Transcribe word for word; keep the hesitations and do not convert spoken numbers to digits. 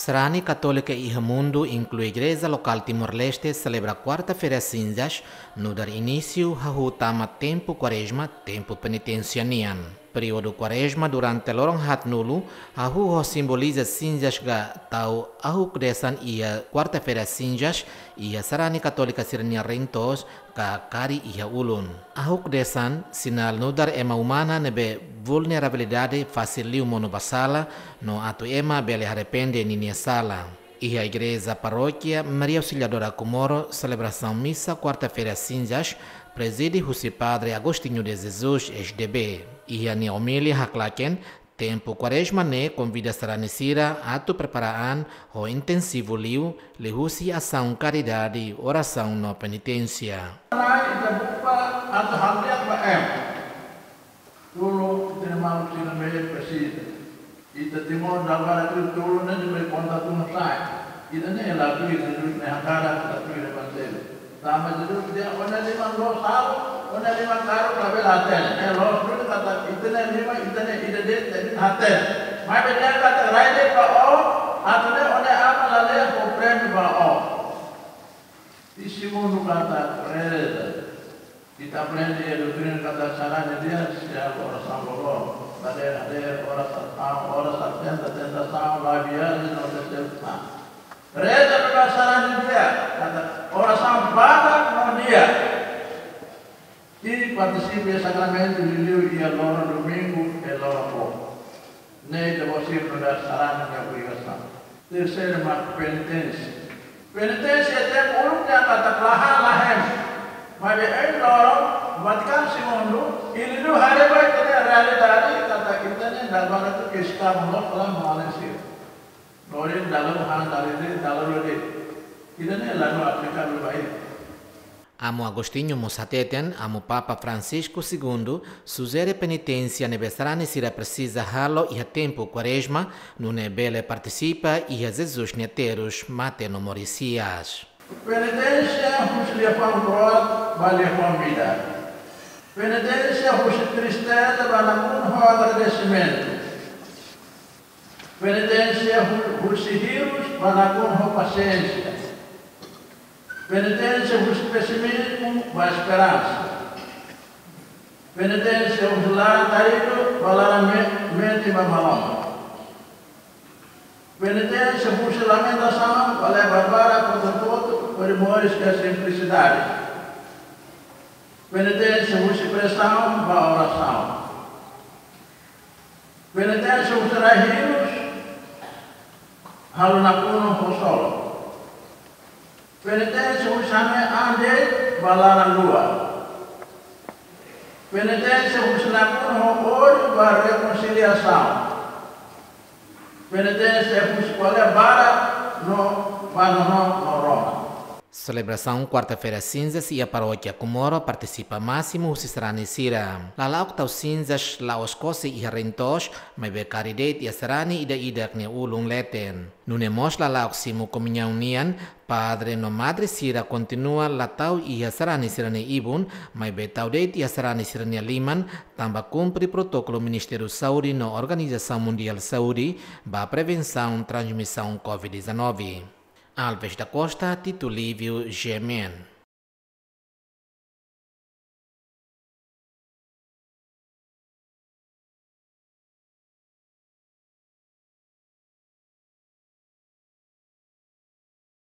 Sarani Katólika iha mundu, inklui Igreja Lokál Timor-Leste, selebra Kuarta-feira Sinzas, nu'udar inísiu hahú tama tempu Kuarezma, tempu peniténsia nian. Períodu Kuarezma durante loron haatnulu, hahú ho simboliza sinzas ka tau ahuk-desan iha Kuarta-feira Sinzas, iha sarani Katólika sira-nia reen-toos ka kari iha ulun. Ahuk-desan sinál nu'udar ema umana ne'ebé vulnerabilidade, fasil liu monu ba sala, no atu ema bele arrepende ninia sala. Iha Igreja Parókia Maria Auxiliadora Comoro, selebrasaun misa Kuarta-feira Sinzas, prezide husi Padre Agostinho de Jesus, S D B. Iha nia omilia haklaken, tempu Kuarezma ne'e konvida sarani sira atu prepara an ho intensivu liu, liuhusi asaun karidade, orasaun no peniténsia. Ita buka atu hamriat ba ema. Tulun ita-nia maluk sira ne'ebé presiza. Ita Timor dala barak tulun ne'e ne'ebé konta tun sai. Ita ne'e la tuir Jesus nia hakarak, la tuir Evanjellu. Tanba Jesus dehan: "Ó-nia liman loos halo, ó-nia liman karuk labele hatene." Ne'e loos duni katak ita-nia liman, ita-nia ida de'it, ita hatene. Maibé dehan katak rai de'it ba ó, atu nune'e ó-nia Aman la leet fó prémiu ba ó. I segundu katak reza. Ita aprende iha doutrina katak sarani di'ak sei halo orasaun loroloron. Dadeer-dadeer, oras, orasaun, oras, tenta, tentasaun, la viajen, no decepsaun. Reza ba sarani di'ak, katak orasaun badak no di'ak. I partisipa iha sakramentu liuliu iha loron Domingu, iha loron boot. Ne'e ita-boot sira nu'udar sarani nia obrigasaun. Terseiru mak peniténsia. Peniténsia tempu uluk ne'e katak la han la hemu. Maibé ohin loron, Vatikanu Segundu, liuliu haree ba ita-nia realidade, katak ita ne'e dala barak atu ke estamu lo fala no alin sira. Lorin dalu han dalu de, dalu de. Ida-ne'e la no aplikabel ba ita. Amu Agostinho mós hateten, Amu Papa Francisco Segundu sujere peniténsia ne'ebé sarani sira presiza halo iha tempu Kuarezma, nune'e bele partisipa iha Jesus nia terus, mate no moris hi'as. Peniténsia husi liafuan kro'at ba liafuan midar. Peniténsia husi tristeza ba nakonu ho agradesimentu. Peniténsia hu-, husi hirus ba nakonu ho pasiénsia. Peniténsia husi pesimizmu ba esperansa. Peniténsia husi laran taridu ba laran me-, metin ba maromak. Peniténsia husi lamentasaun ba lebar barak kotuk-kotuk, primores ka simplisidade. Peniténsia husi presaun ba orasaun. Peniténsia husi rai hirus, halo nakonu ho solo. Peniténsia husi hanoin an de'it ba laran luak. Peniténsia husi nakonu ho ódiu ba rekonsiliasaun. Peniténsia husi ko'alia barak no ba nonook no rona. Selebrasaun Kuarta-feira Sinzas iha Parókia Comoro partisipa másimu husi sarani sira. Lala'ok tau sinzas la'ós kose iha reen-toos, maibé kari de'it iha sarani ida-idak nia ulun leten. Nune'e mós lala'ok simu komuñaun nian, padre no madre sira kontinua la tau iha sarani sira-nia ibun, maibé tau de'it iha sarani sira-nia liman, tanba kumpre protokolu Ministériu Saúde no Organizasaun Mundiál Saúde ba prevensaun transmisaun covid dezanove. Alves da Costa, Tito Lívio, G M N.